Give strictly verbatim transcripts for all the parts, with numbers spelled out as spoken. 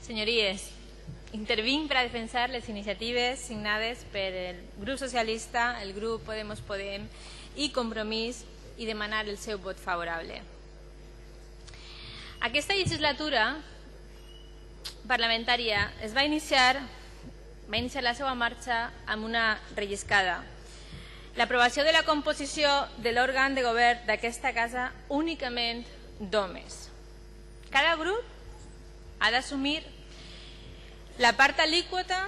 Senyories, intervinc per a defensar les iniciatives signades per el grup socialista, el grup Podemos Podem i Compromís i demanar el seu vot favorable. Aquesta legislatura parlamentària es va iniciar, va iniciar la seva marxa amb una relliscada. L'aprovació de la composició de l'òrgan de govern d'aquesta casa únicament d'homes. Cada grup ha d'assumir la part alíquota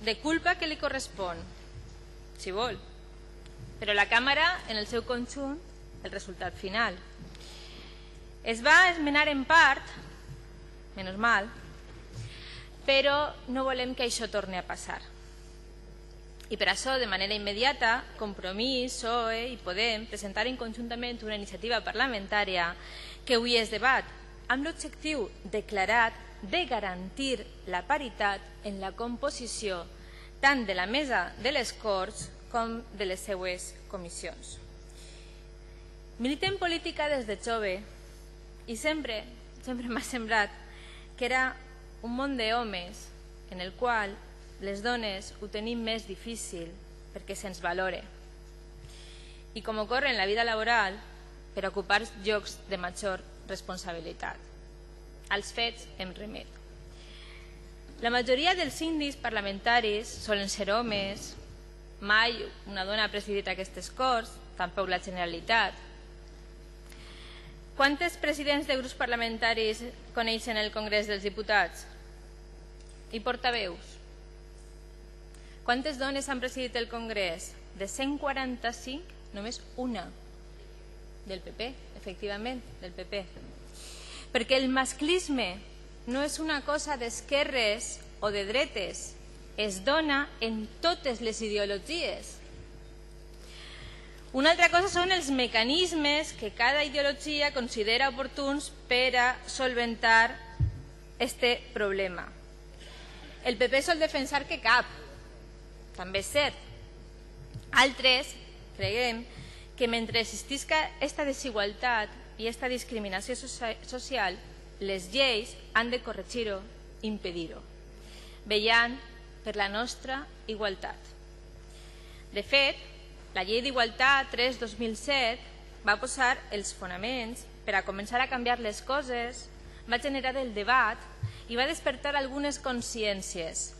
de culpa que li correspon, si vol, però la Càmera, en el seu conjunt, el resultat final. Es va esmenar en part, menys mal, però no volem que això torni a passar. I per això, de manera immediata, Compromís, P S O E i Podem presentaren conjuntament una iniciativa parlamentària que avui es debat, amb l'objectiu declarat de garantir la paritat en la composició tant de la mesa de les Corts com de les seues comissions. Milité en política des de jove i sempre, sempre m'ha semblat que era un món d'homes en el qual les dones ho tenim més difícil perquè se'ns valore. I com ocorre en la vida laboral, per ocupar llocs de major responsabilitat. Als fets em remet. La majoria dels síndics parlamentaris solen ser homes, mai una dona ha presidit aquestes Corts, tampoc la Generalitat. Quantes presidents de grups parlamentaris coneixen el Congrés dels Diputats? I portaveus? Quantes dones han presidit el Congrés? De cent quaranta-cinc, només una. Del P P, efectivament, del P P. Perquè el masclisme no és una cosa d'esquerres o de dretes, es dona en totes les ideologies. Una altra cosa són els mecanismes que cada ideologia considera oportuns per a solventar este problema. El P P sol defensar que cap, també és cert. Altres creiem que mentre existisca aquesta desigualtat i aquesta discriminació social, les lleis han de corregir-ho, impedir-ho, vetllant per la nostra igualtat. De fet, la Llei d'Igualtat tres dos mil set va posar els fonaments per a començar a canviar les coses, va generar el debat i va despertar algunes consciències.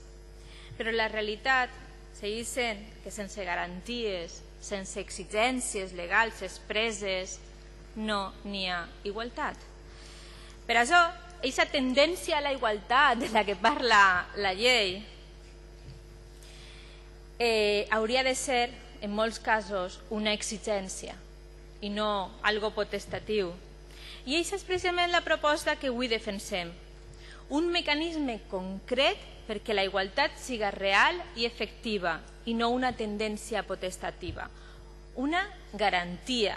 Però la realitat segueix sent que sense garanties, sense exigències legals expresses, no n'hi ha igualtat. Per això, aquesta tendència a la igualtat de la que parla la llei eh, hauria de ser, en molts casos, una exigència i no algo potestatiu. I aquesta és precisament la proposta que avui defensem. Un mecanisme concret perquè la igualtat siga real i efectiva i no una tendència potestativa. Una garantia,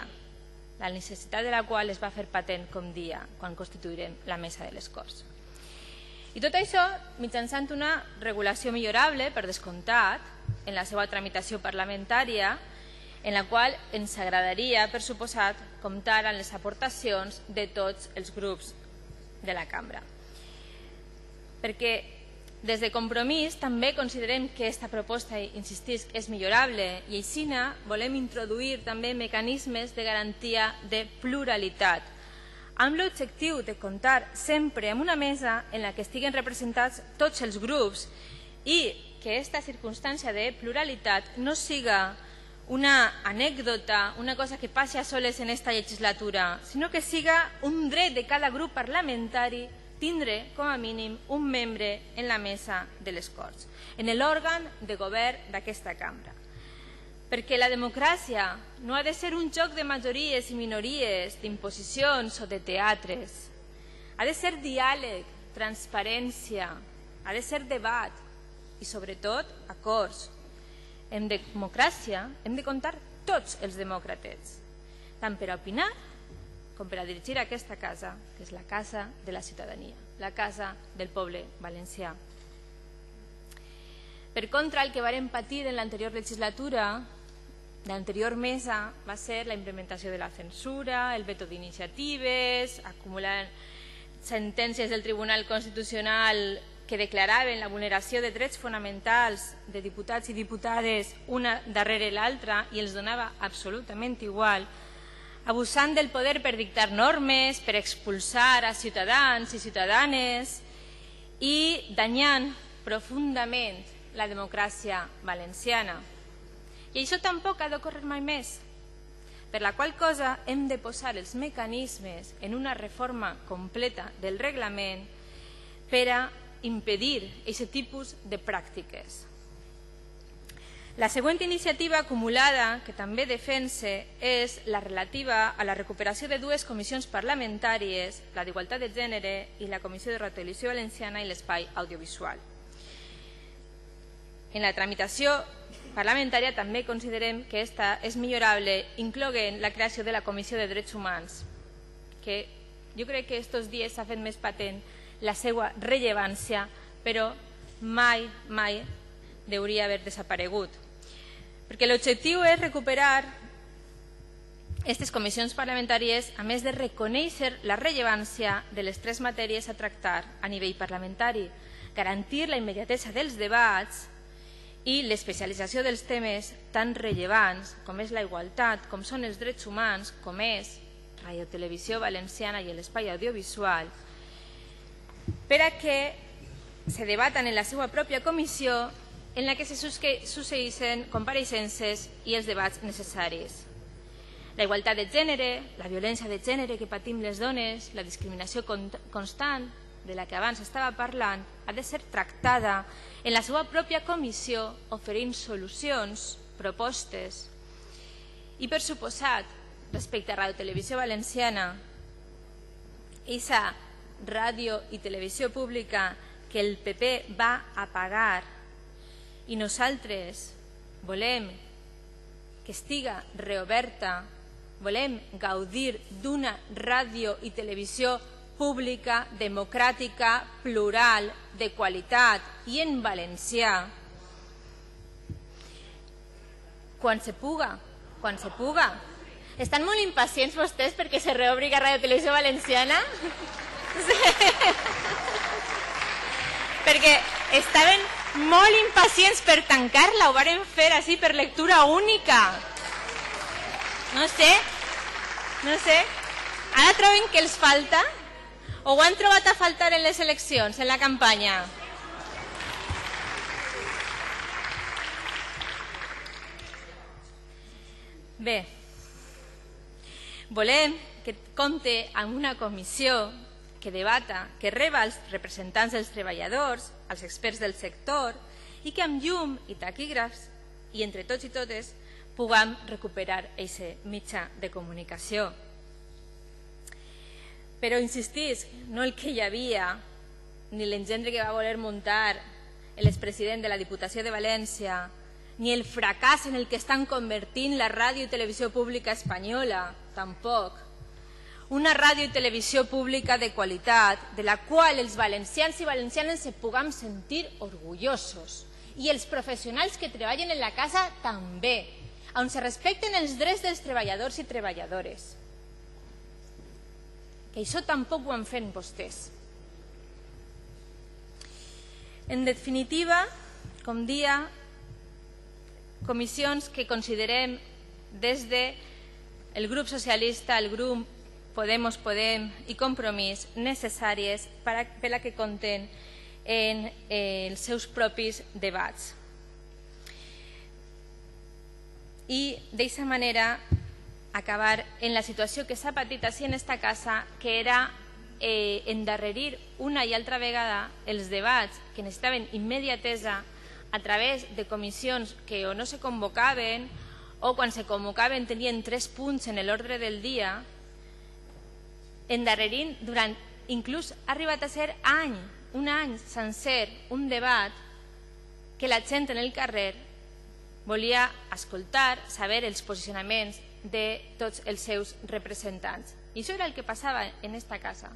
la necessitat de la qual es va fer patent, com dia, quan constituirem la mesa de les Corts. I tot això mitjançant una regulació millorable, per descomptat, en la seva tramitació parlamentària, en la qual ens agradaria, per suposat, comptar amb les aportacions de tots els grups de la cambra. Perquè des de Compromís també considerem que aquesta proposta, insistisc, és millorable i així volem introduir també mecanismes de garantia de pluralitat, amb l'objectiu de comptar sempre amb una mesa en la que estiguen representats tots els grups i que aquesta circumstància de pluralitat no siga una anècdota, una cosa que passi a soles en aquesta legislatura, sinó que siga un dret de cada grup parlamentari tindre, com a mínim, un membre en la mesa de les Corts, en l'òrgan de govern d'aquesta cambra. Perquè la democràcia no ha de ser un joc de majories i minories, d'imposicions o de teatres. Ha de ser diàleg, transparència, ha de ser debat i, sobretot, acords. En democràcia hem de comptar tots els demòcrates, tant per a opinar com per a dirigir aquesta casa, que és la casa de la ciutadania, la casa del poble valencià. Per contra, el que vàrem patir en l'anterior legislatura, l'anterior mesa, va ser la implementació de la censura, el veto d'iniciatives, acumulant sentències del Tribunal Constitucional que declaraven la vulneració de drets fonamentals de diputats i diputades una darrere l'altra i els donava absolutament igual, abusant del poder per dictar normes, per expulsar a ciutadans i ciutadanes i danyant profundament la democràcia valenciana. I això tampoc ha d'ocórrer mai més, per la qual cosa hem de posar els mecanismes en una reforma completa del reglament per a impedir aquest tipus de pràctiques. La següent iniciativa acumulada que també defense és la relativa a la recuperació de dues comissions parlamentàries, la d'Igualtat de Gènere i la Comissió de Radiotelevisió Valenciana i l'Espai Audiovisual. En la tramitació parlamentària també considerem que esta és millorable, incloent la creació de la Comissió de Drets Humans, que jo crec que aquests dies s'ha fet més patent la seva rellevància, però mai, mai hauria d'haver desaparegut. Perquè l'objectiu és recuperar aquestes comissions parlamentàries, a més de reconèixer la rellevància de les tres matèries a tractar a nivell parlamentari, garantir la immediatesa dels debats i l'especialització dels temes tan rellevants com és la igualtat, com són els drets humans, com és Radiotelevisió Valenciana i l'espai audiovisual, per a que se debaten en la seva pròpia comissió en la que se succeeixen compareixences i els debats necessaris. La igualtat de gènere, la violència de gènere que patim les dones, la discriminació constant de la que abans estava parlant, ha de ser tractada en la seva pròpia comissió oferint solucions, propostes. I per suposat, respecte a Radiotelevisió Valenciana, aquesta ràdio i televisió pública que el P P va apagar i nosaltres volem que estiga reoberta, volem gaudir d'una ràdio i televisió pública, democràtica, plural, de qualitat i en valencià. Quan se puga, quan se puga. Estan molt impacients vostès perquè se reobri Radiotelevisió Valenciana? Perquè estaven molt impacients per tancar-la, ho varen fer així per lectura única. No sé, no sé. Ara troben que els falta? O ho han trobat a faltar en les eleccions, en la campanya? Bé, volem que compte amb una comissió que debata, que reba els representants dels treballadors, els experts del sector, i que amb llum i taquígrafs, i entre tots i totes, puguem recuperar aquest mitjà de comunicació. Però insistís, no el que hi havia, ni l'engendre que va voler muntar l'expresident de la Diputació de València, ni el fracàs en el que estan convertint la ràdio i televisió pública espanyola, tampoc. Una ràdio i televisió pública de qualitat, de la qual els valencians i valencianes se puguem sentir orgullosos. I els professionals que treballen en la casa també, on se respecten els drets dels treballadors i treballadores. Que això tampoc ho han fet vostès. En definitiva, com dia, comissions que considerem des del grup socialista, el grup Podemos Podem i Compromís necessàries per a que compten en els seus propis debats. I d'aquesta manera acabar en la situació que s'ha patit així en esta casa, que era eh, endarrerir una i altra vegada els debats que necessitaven immediatesa a través de comissions que o no se convocaven o quan se convocaven tenien tres punts en l'ordre del dia, endarrerint durant, inclús ha arribat a ser any, un any sencer, un debat que la gent en el carrer volia escoltar, saber els posicionaments de tots els seus representants. I això era el que passava en esta casa.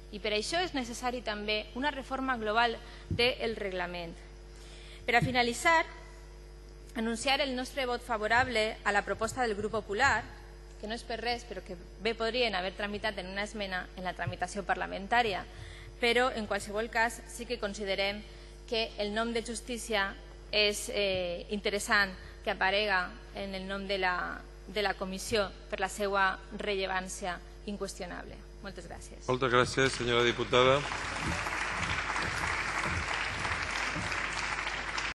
I per això és necessari també una reforma global del reglament. Per a finalitzar, anunciar el nostre vot favorable a la proposta del grup popular, que no és per res, però que bé podrien haver tramitat en una esmena en la tramitació parlamentària, però en qualsevol cas sí que considerem que el nom de justícia és eh, interessant que aparega en el nom de la, de la comissió per la seva rellevància inqüestionable. Moltes gràcies. Moltes gràcies, senyora diputada.